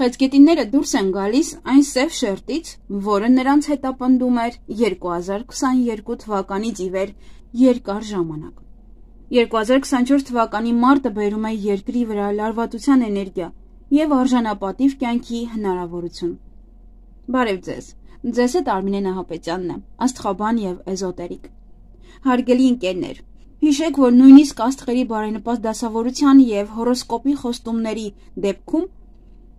Խեցգետինները դուրս են գալիս այն սև շերտից, որը նրանց հետապնդում էր 2022 թվականից ի վեր երկար ժամանակ։ 2024 թվականի մարտը բերում է երկրի վրա լարվածության էներգիա և արժանապատիվ կյանքի հնարավորություն։ Բարև ձեզ, ձեզ հետ Արմինե Նահապետյանն է, աստղաբան և էզոտերիկ։ Հարգելի ընկերներ, հիշեք, որ նույնիսկ աստղերի բարենպաստ դասավորության և հորոսկոպի խոստումների դեպքում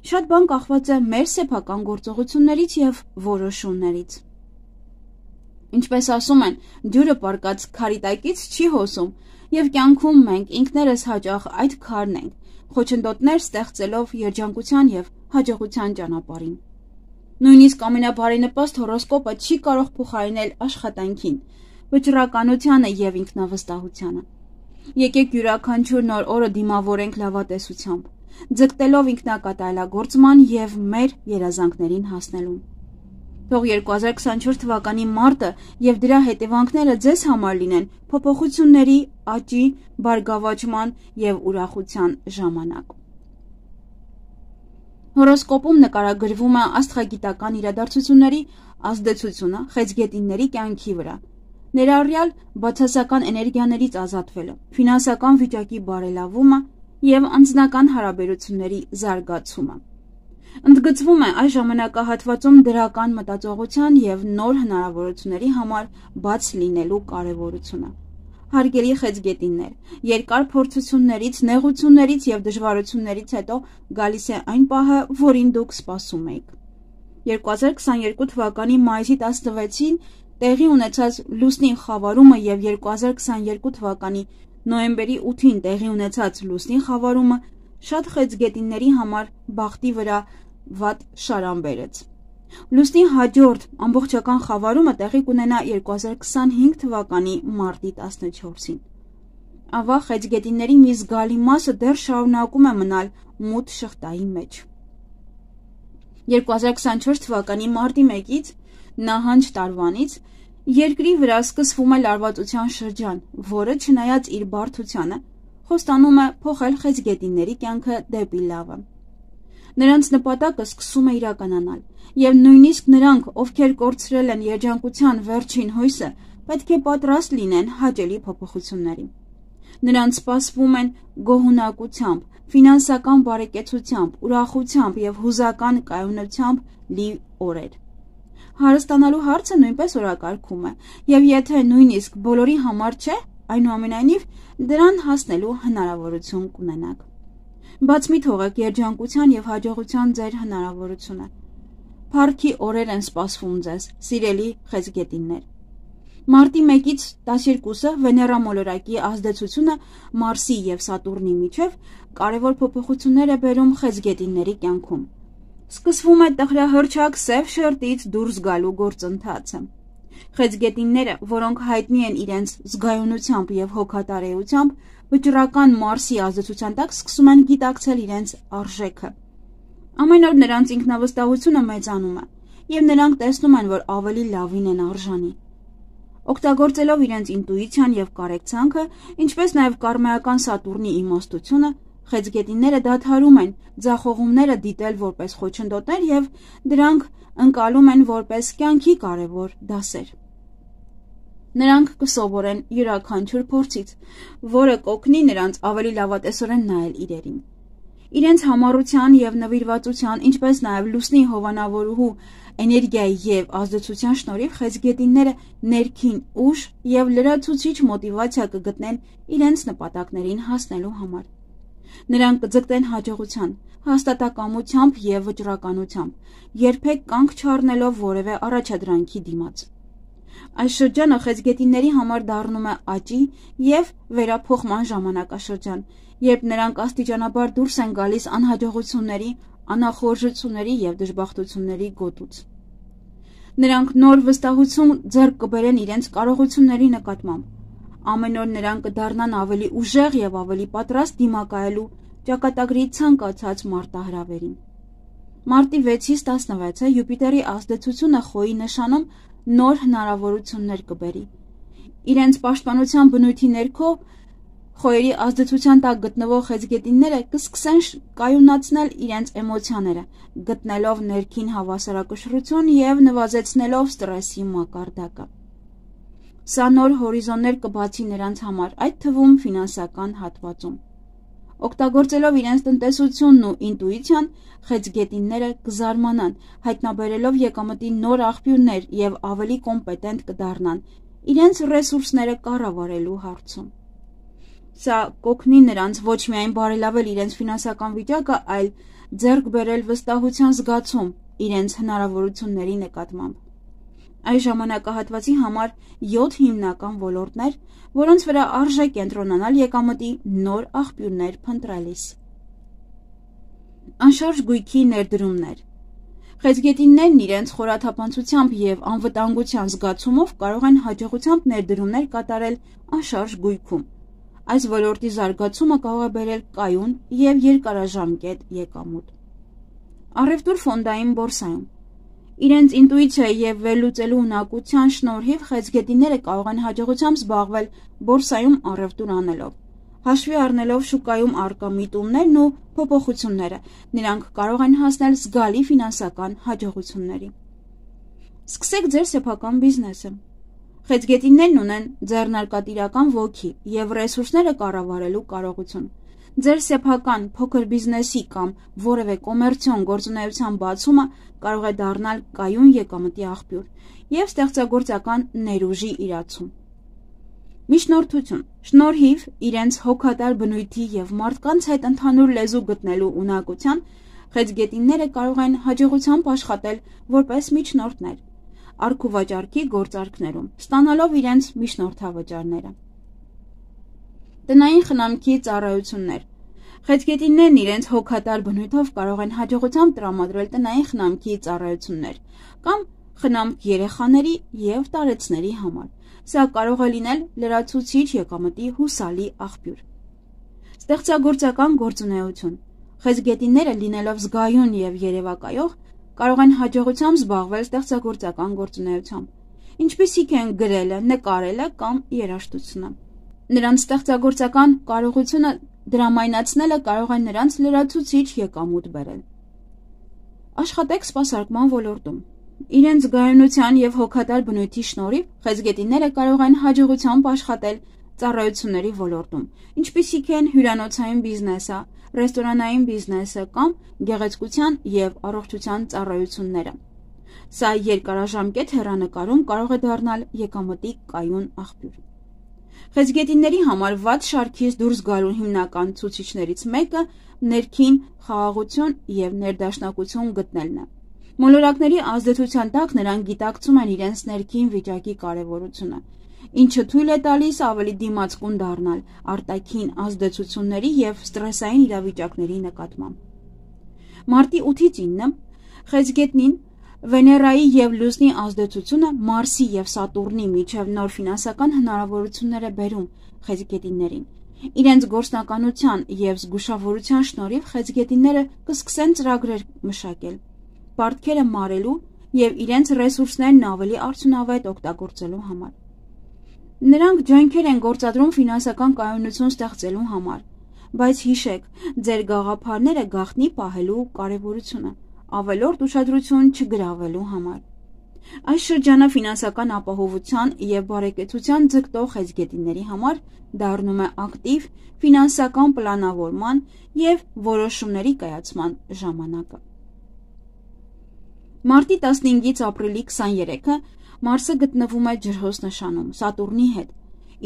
շատ բան կախված է մեր սեփական գործողություններից և որոշումներից։ Ինչպես ասում են, ջուրը պառկած քարի տակից չի հոսում, և կյանքում մենք ինքներս հաճախ այդ քարն ենք, խոչընդոտներ ստեղծելով երջանկության և հաջողության ճանապարհին։ Նույնիսկ ամենաբարենպաստ հորոսկոպը չի կարող փոխարինել աշխատանքին, վճռականությանը և ինքնավստահությանը։ Եկեք յուրաքանչյուր նոր օրը դիմավորենք լավատեսությամբ, ձգտելով ինքնակատարելագործման և մեր երազանքներին հասնելուն։ Թող 2024 թվականի մարտը և դրա հետևանքները ձեզ համար լինեն փոփոխությունների, աճի, բարգավաճման և ուրախության ժամանակ։ Հորոսկոպում նկարագրվում է աստղագիտական իրադարձությունների ազդեցությունը խեցգետինների կյանքի վրա, ներառյալ բացասական էներգիաներից ազատվելը, ֆինանսական վիճակի բարելավումը և անձնական հարաբերությունների զարգացումը։ Ընդգծվում է այս ժամանակահատվածում դրական մտածողության և նոր հնարավորությունների համար բաց լինելու կարևորությունը։ Հարգելի խեցգետիններ, երկար փորձություններից, նեղություններից և դժվարություններից հետո գալիս է այն պահը, որին դուք սպասում էիք։ 2022 թվականի մայիսի 16-ին տեղի ունեցած լուսնի խավարումը և 2022 թվականի նոյեմբերի 8-ին տեղի ունեցած լուսնի խավարումը շատ խեցգետինների համար բախտի վրա վատ շարան բերեց։ Լուսնի հաջորդ ամբողջական խավարումը տեղի կունենա 2025 թվականի մարտի 14-ին։ Ավաղ խեցգետինների մի զգալի մասը դեռ շարունակում է մնալ մութ շղթայի մեջ։ 2024 թվականի մարտի 1-ից նահանջ տարվանից երկրի վրա սկսվում է լարվածության շրջան, որը չնայած իր բարդությանը, խոստանում է փոխել խեցգետինների կյանքը դեպի լավը։ Նրանց նպատակը սկսում է իրականանալ, և նույնիսկ նրանք, ովքեր կորցրել են երջանկության վերջին հույսը, պետք է պատրաստ լինեն հաճելի փոփոխությունների։ Նրանց սպասվում են գոհունակությամբ, ֆինանսական բարեկեցությամբ, ուրախությամբ և հուզական կայունությամբ լի օրեր։ Հարստանալու հարցը նույնպես օրակարգում է, և եթե նույնիսկ բոլորի համար չէ, այնուամենայնիվ դրան հասնելու հնարավորություն կունենաք։ Բաց մի թողեք երջանկության և հաջողության ձեր հնարավորությունը։ Փառքի օրեր են սպասվում ձեզ, սիրելի խեցգետիններ։ Մարտի 1-ից 12-ը Վեներա մոլորակի ազդեցությունը Մարսի և Սատուրնի միջև կարևոր փոփոխություններ է բերում խեցգետինների կյանքում։ Սկսվում է տխրահռչակ սև շերտից դուրս գալու գործընթացը։ Խեցգետինները, որոնք հայտնի են իրենց զգայունությամբ և հոգատարեությամբ, վճռական Մարսի ազդեցության տակ սկսում են գիտակցել իրենց արժեքը։ Ամեն օր նրանց ինքնավստահությունը մեծանում է, և նրանք տեսնում են, որ ավելի լավին են արժանի։ Օգտագործելով իրենց ինտուիցիան և կարեկցանքը, ինչպես նաև կարմայական Սատուրնի իմաստությունը, խեցգետինները դադարում են ձախողումները դիտել որպես խոչընդոտներ և դրանք ընկալում են որպես կյանքի կարևոր դասեր։ Նրանք կսովորեն յուրաքանչյուր փորձից, որը կօգնի նրանց ավելի լավատեսորեն նայել իրերին։ Իրենց համառության և նվիրվածության, ինչպես նաև լուսնի հովանավորուհու էներգիայի և ազդեցության շնորհիվ խեցգետինները ներքին ուժ և լրացուցիչ մոտիվացիա կգտնեն իրենց նպատակներին հասնելու համար։ Նրանք կձգտեն հաջողության, հաստատակամությամբ և վճռականությամբ, երբեք կանգ չառնելով որևէ առաջադրանքի դիմաց։ Այս շրջանը խեցգետինների համար դառնում է աճի և վերափոխման ժամանակաշրջան, երբ նրանք աստիճանաբար դուրս են գալիս անհաջողությունների, անախորժությունների և դժբախտությունների գոտուց։ Նրանք նոր վստահություն ձեռք կբերեն իրենց կարողությունների նկատմամբ։ Ամեն օր նրանք կդառնան ավելի ուժեղ և ավելի պատրաստ դիմակայելու ճակատագրի ցանկացած մարտահրավերին։ Մարտի 6-ից 16-ը Յուպիտերի ազդեցությունը Խոյի նշանում նոր հնարավորություններ կբերի։ Իրենց պաշտպանության բնույթի ներքո Խոյերի ազդեցության տակ գտնվող խեցգետինները կսկսեն կայունացնել իրենց էմոցիաները, գտնելով ներքին հավասարակշռություն և նվազեցնելով ստրեսի մակարդակը։ Սա նոր հորիզոններ կբացի նրանց համար, այդ թվում ֆինանսական հատվածում։ Օգտագործելով իրենց տնտեսությունն ու ինտուիցիան, խեցգետինները կզարմանան, հայտնաբերելով եկամտի նոր աղբյուրներ և ավելի կոմպետենտ կդառնան իրենց ռեսուրսները կառավարելու հարցում։ Սա կօգնի նրանց ոչ միայն բարելավել իրենց ֆինանսական վիճակը, այլ ձեռք բերել վստահության զգացում իրենց հնարավորությունների նկատմամբ։ Այս ժամանակահատվածի համար 7 հիմնական ոլորտներ, որոնց վրա արժե կենտրոնանալ եկամտի նոր աղբյուրներ փնտրելիս։ Անշարժ գույքի ներդրումներ։ Խեցգետիններն իրենց խորաթափանցությամբ և անվտանգության զգացումով կարող են հաջողությամբ ներդրումներ կատարել անշարժ գույքում։ Այս ոլորտի զարգացումը կարող է բերել կայուն և երկարաժամկետ եկամուտ։ Առևտուր ֆոնդային բորսայում։ Իրենց ինտուիցիայի և վերլուծելու ունակության շնորհիվ խեցգետինները կարող են հաջողությամբ զբաղվել բորսայում առևտուր անելով։ Հաշվի առնելով շուկայում առկա միտումներն ու փոփոխությունները, նրանք կարող են հասնել զգալի ֆինանսական հաջողությունների։ Սկսեք ձեր սեփական բիզնեսը։ Խեցգետիններն ունեն ձեռնարկատիրական ոգի և ռեսուրսները կառավարելու կարողություն։ Ձեր սեփական փոքր բիզնեսի կամ որևէ կոմերցիոն գործունեության բացումը կարող է դառնալ կայուն եկամտի աղբյուր և ստեղծագործական ներուժի իրացում։ Միջնորդություն։ Շնորհիվ իրենց հոգատար բնույթի և մարդկանց հետ ընդհանուր լեզու գտնելու ունակության, խեցգետինները կարող են հաջողությամբ աշխատել որպես միջնորդներ առք-ու-վաճառքի գործարքներում, ստանալով իրենց միջնորդավճարները։ Տնային խնամքի ծառայություններ։ Խեցգետիններն իրենց հոգատար բնույթով կարող են հաջողությամբ տրամադրել տնային խնամքի ծառայություններ կամ խնամք երեխաների և տարեցների համար։ Սա կարող է լինել լրացուցիչ եկամտի հուսալի աղբյուր։ Ստեղծագործական գործունեություն։ Խեցգետինները լինելով զգայուն և երևակայող, կարող են հաջողությամբ զբաղվել ստեղծագործական գործունեությամբ, ինչպիսիք են գրելը, նկարելը կամ երաժշտությունը։ Նրանց ստեղծագործական կարողությունը դրամայնացնելը կարող է նրանց լրացուցիչ եկամուտ բերել։ Աշխատեք սպասարկման ոլորտում։ Իրենց զգայունության և հոգատար բնույթի շնորհիվ խեցգետինները կարող են հաջողությամբ աշխատել ծառայությունների ոլորտում, ինչպիսիք են հյուրանոցային բիզնեսը, ռեստորանային բիզնեսը կամ գեղեցկության և առողջության ծառայությունները։ Սա երկարաժամկետ հեռանկարում կարող է դառնալ եկամտի կայուն աղբյուր։ Խեցգետինների համար վատ շարքից դուրս գալու հիմնական ցուցիչներից մեկը ներքին խաղաղություն և ներդաշնակություն գտնելն է։ Մոլորակների ազդեցության տակ նրանք գիտակցում են իրենց ներքին վիճակի կարևորությունը, ինչը թույլ է տալիս ավելի դիմացկուն դառնալ արտաքին ազդեցությունների և ստրեսային իրավիճակների նկատմամբ։ Մարտի 8-ից 9 խեցգետնին Վեներայի և Լուսնի ազդեցությունը Մարսի և Սատուրնի միջև նոր ֆինանսական հնարավորություններ է բերում խեցգետիններին։ Իրենց գործնականության և զգուշավորության շնորհիվ խեցգետինները կսկսեն ծրագրեր մշակել, պարտքերը մարելու և իրենց ռեսուրսներն ավելի արդյունավետ օգտագործելու համար։ Նրանք ջանքեր են գործադրում ֆինանսական կայունություն ստեղծելու համար, բայց հիշեք, ձեր գաղափարները գաղտնի պահելու կարևորությունը, ավելորդ ուշադրություն չգրավելու համար։ Այս շրջանը ֆինանսական ապահովության և բարեկեցության ձգտող խեցգետինների համար դառնում է ակտիվ ֆինանսական պլանավորման և որոշումների կայացման ժամանակը։ Մարտի 15-ից ապրիլի 23-ը Մարսը գտնվում է ջրհոս նշանում Սատուրնի հետ,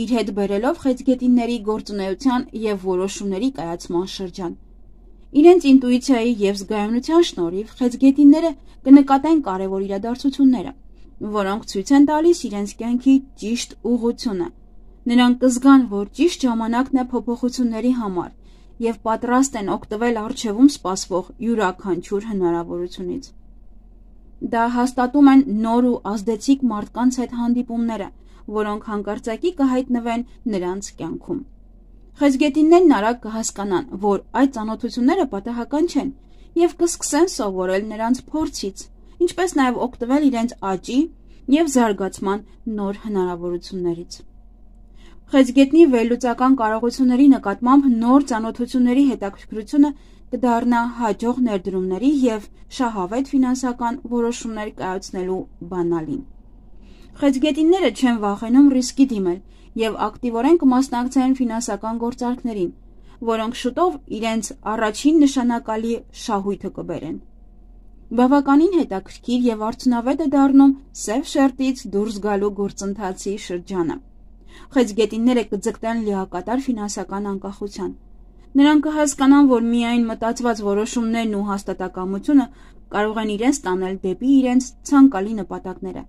իր հետ բերելով խեցգետինների գործունեության և որոշումների կայացման շրջան։ Իրենց ինտուիցիայի և զգայունության շնորհիվ խեցգետինները կնկատեն կարևոր իրադարձությունները, որոնք ցույց են տալիս իրենց կյանքի ճիշտ ուղղությունը։ Նրանք կզգան, որ ճիշտ ժամանակն է փոփոխությունների համար և պատրաստ են օգտվել առջևում սպասվող յուրաքանչյուր հնարավորությունից։ Դա հաստատում են նոր ու ազդեցիկ մարդկանց հետ հանդիպումները, որոնք հանկարծակի կհայտնվեն նրանց կյանքում։ Խեցգետիններն արագ կհասկանան, որ այդ ծանոթությունները պատահական չեն և կսկսեն սովորել նրանց փորձից, ինչպես նաև օգտվել իրենց աճի և զարգացման նոր հնարավորություններից։ Խեցգետնի վերլուծական կարողությունների նկատմամբ նոր ծանոթությունների հետաքրքրությունը կդառնա հաջող ներդրումների և շահավետ ֆինանսական որոշումներ կայացնելու բանալին։ Խեցգետինները չեն վախենում ռիսկի դիմել և ակտիվորեն կմասնակցեն ֆինանսական գործարքներին, որոնք շուտով իրենց առաջին նշանակալի շահույթը կբերեն։ Բավականին հետաքրքիր և արդյունավետ է դառնում սև շերտից դուրս գալու գործընթացի շրջանը։ Խեցգետինները կձգտեն լիակատար ֆինանսական անկախության։ Նրանք կհասկանան, որ միայն մտածված որոշումներն ու հաստատակամությունը կարող են իրենց տանել դեպի իրենց ցանկալի նպատակները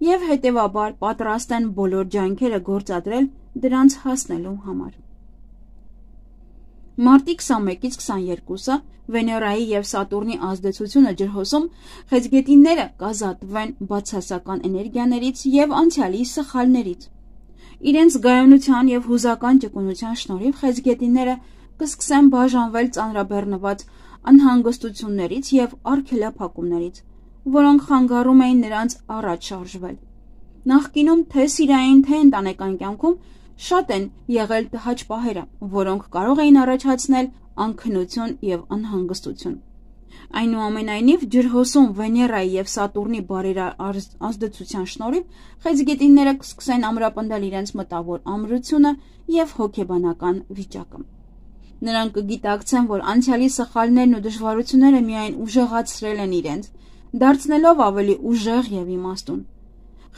և հետևաբար պատրաստ են բոլոր ջանքերը գործադրել դրանց հասնելու համար։ Մարտի 21-ից 22-ը Վեներայի և Սատուրնի ազդեցությունը ջրհոսում խեցգետինները կազատվեն բացասական էներգիաներից և անցյալի սխալներից։ Իրենց զգայունության և հուզական ճկունության շնորհիվ խեցգետինները կսկսեն բաժանվել ծանրաբեռնված անհանգստություններից և արգելափակումներից, որոնք խանգարում էին նրանց առաջ շարժվել։ Նախկինում թե սիրային, թե ընտանեկան կյանքում շատ են եղել տհաճ պահերը, որոնք կարող էին առաջացնել անքնություն և անհանգստություն։ Այնուամենայնիվ, ջրհոսում Վեներայի և Սատուրնի բարերար ազդեցության շնորհիվ խեցգետինները կսկսեն ամրապնդել իրենց մտավոր ամրությունը և հոգեբանական վիճակը։ Նրանք կգիտակցեն, որ անցյալի սխալներն ու դժվարությունները միայն ուժեղացրել են իրենց, դարձնելով ավելի ուժեղ և իմաստուն։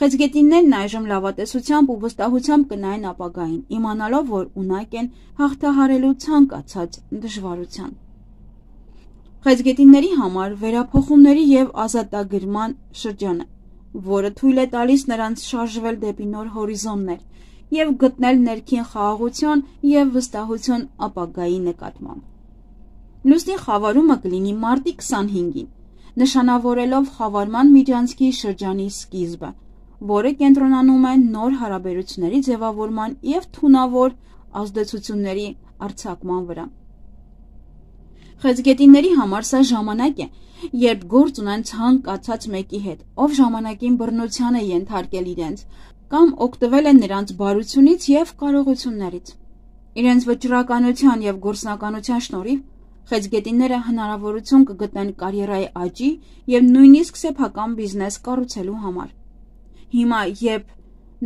Խեցգետիններն այժմ լավատեսությամբ ու վստահությամբ կնայեն ապագային, իմանալով, որ ունակ են հաղթահարելու ցանկացած դժվարության։ Խեցգետինների համար վերափոխումների և ազատագրման շրջան է, որը թույլ է տալիս նրանց շարժվել դեպի նոր հորիզոններ և գտնել ներքին խաղաղություն և վստահություն ապագայի նկատմամբ։ Լուսնի խավարումը կլինի մարտի 25-ին, նշանավորելով խավարման միջանցքի շրջանի սկիզբը, որը կենտրոնանում է նոր հարաբերությունների ձևավորման և թունավոր ազդեցությունների արձակման վրա։ Խեցգետինների համար սա ժամանակ է, երբ գործ ունեն ցանկացած մեկի հետ, ով ժամանակին բռնության է ենթարկել իրենց կամ օգտվել է նրանց բարությունից և կարողություններից։ Իրենց վճռականության և գործնականության շնորհիվ խեցգետինները հնարավորություն կգտնեն կարիերայի աճի և նույնիսկ սեփական բիզնես կառուցելու համար։ Հիմա, երբ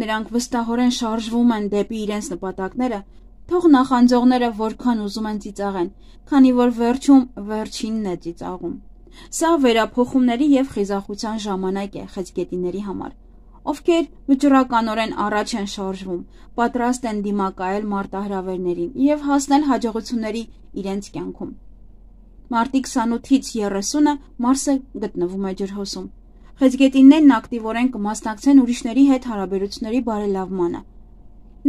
նրանք վստահորեն շարժվում են դեպի իրենց նպատակները, թող նախանձողները որքան ուզում են ծիծաղեն, քանի որ վերջում վերջինն է ծիծաղում։ Սա վերափոխումների և խիզախության ժամանակ է խեցգետինների համար, ովքեր վճռականորեն առաջ են շարժվում, պատրաստ են դիմակայել մարտահրավերներին և հասնել հաջողությունների իրենց կյանքում։ Մարտի 28-ից 30-ը Մարսը գտնվում է ջրհոսում։ Խեցգետիններն ակտիվորեն կմասնակցեն ուրիշների հետ հարաբերությունների բարելավմանը։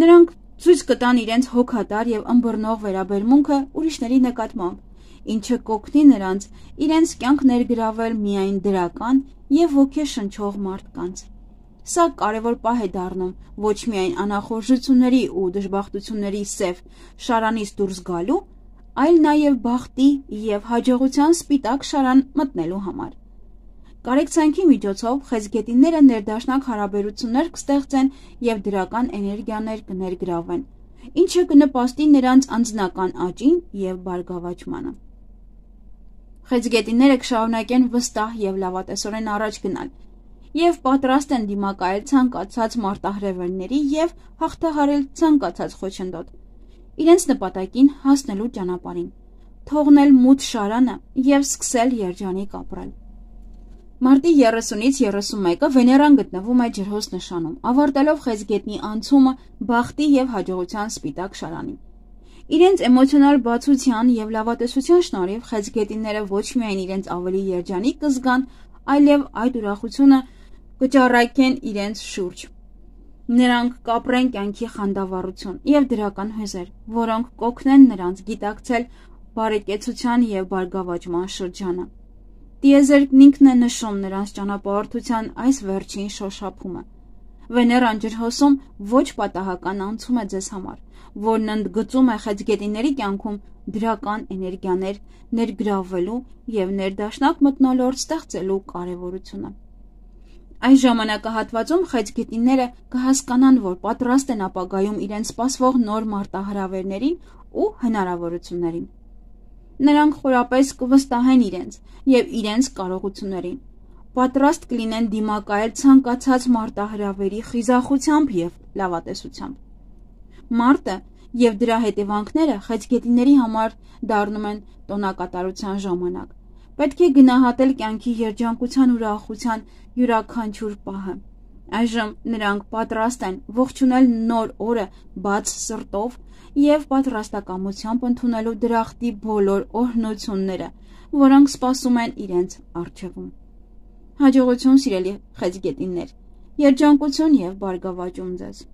Նրանք ցույց կտան իրենց հոգատար և ըմբռնող վերաբերմունքը ուրիշների նկատմամբ, ինչը կօգնի նրանց իրենց կյանք ներգրավել միայն դրական և ոգեշնչող մարդկանց։ Սա կարևոր պահ է դառնում ոչ միայն անախորժությունների ու դժբախտությունների սև շարանից դուրս գալու, այլ նաև բախտի և հաջողության սպիտակ շարան մտնելու համար։ Կարեկցանքի միջոցով խեցգետինները ներդաշնակ հարաբերություններ կստեղծեն և դրական էներգիաներ կներգրավեն, ինչը կնպաստի նրանց անձնական աճին և բարգավաճմանը։ Խեցգետինները կշարունակեն վստահ և լավատեսորեն առաջ գնալ և պատրաստ են դիմակայել ցանկացած մարտահրավերների և հաղթահարել ցանկացած խոչընդոտ՝ իրենց նպատակին հասնելու ճանապարհին, թողնել մութ շարանը և սկսել երջանիկ ապրել։ Մարտի 30-ից 31-ը Վեներան գտնվում է ջրհոս նշանում, ավարտելով խեցգետնի անցումը բախտի և հաջողության սպիտակ շարանին։ Իրենց էմոցիոնալ բացության և լավատեսության շնորհիվ խեցգետինները ոչ միայն իրենց ավելի երջանիկ կզգան, այլև այդ ուրախությունը կճառագեն իրենց շուրջ։ Նրանք կապրեն կյանքի խանդավառություն և դրական հույզեր, որոնք կօգնեն նրանց գիտակցել բարեկեցության և բարգավաճման շրջանը։ Տիեզերքն ինքն է նշում նրանց ճանապարհորդության այս վերջին շոշափումը։ Վեներան ջրհոսում ոչ պատահական անցում է ձեզ համար, որն ընդգծում է խեցգետինների կյանքում դրական էներգիաներ ներգրավվելու և ներդաշնակ մթնոլորտ ստեղծելու կարևորությունը։ Այս ժամանակահատվածում խեցգետինները կհասկանան, որ պատրաստ են ապագայում իրենց սպասվող նոր մարտահրավերներին ու հնարավորություններին։ Նրանք խորապես կվստահեն իրենց և իրենց կարողություններին, պատրաստ կլինեն դիմակայել ցանկացած մարտահրավերի խիզախությամբ և լավատեսությամբ։ Մարտը և դրա հետևանքները խեցգետիների համար դառնում են տոնակատարության ժամանակ։ Պետք է գնահատել կյանքի երջանկության ու ուրախության յուրաքանչյուր պահը։ Այժմ նրանք պատրաստ են ողջունել նոր օրը բաց սրտով և պատրաստակամությամբ ընդունելու դրախտի բոլոր օրհնությունները, որոնք սպասում են իրենց առջևում։ Հաջողություն, սիրելի խեցգետիններ, երջանկություն և բարգավաճում ձեզ։